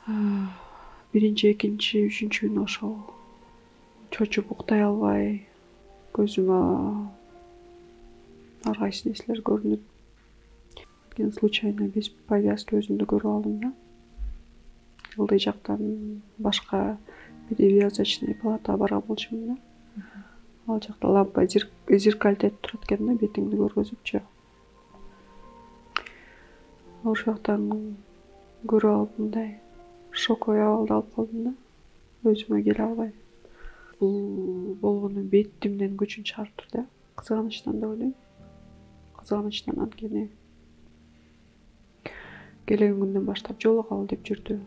Биринчи, экинчи, үчүнчү күнү ошол чочуп уктай албай, көзүмө ар кайсы нерселер көрүнүп, анткени случайно без повязки өзүмдү көрүп алдым да. Ылдый жактан башка перевязочный палатага барган болчумун да. Ал жакта лампа зеркальтетип турат экен да, бетиңди көргөзүпчү. Ошол жактан көрүп алып мындай шоковый абалда алып калдым да, өзүмө келе албай. Бул болгону бетимден күчүн чыгарыптыр да, кызганычтан деп ойлойм. Кызганычтан, анткени келген күндөн баштап жолугалы деп жүрдү.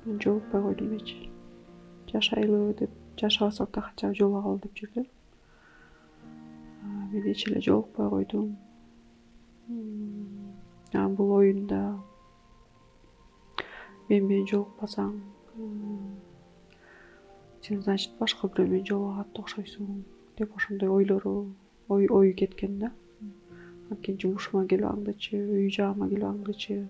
Мен жолукпай койдум эч. Жашайлы деп, жашабасак да хотя бы жолугалы деп жүрдү. Мен эч эле жолукпай койдум. Бул оюнда мен менен жолукпасаң, сен, значит, башка бирөө менен жолугат окшойсуң деп ошондой ою кеткен да. Анткени жумушума келип аңдычы, үй жагыма келип аңдычы.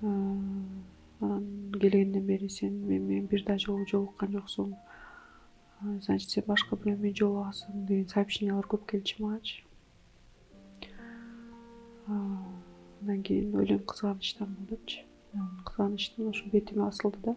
Анан келгенден бери сен мен менен бир да жолу жолуккан жоксуң. Значит, сен башка бирөө менен жолугасың деген сообщениялар көп келчү магачы. Андан кийин ойлойм, кызганычтан болуп депчи. Кызганычтан ошо бетиме асылды да.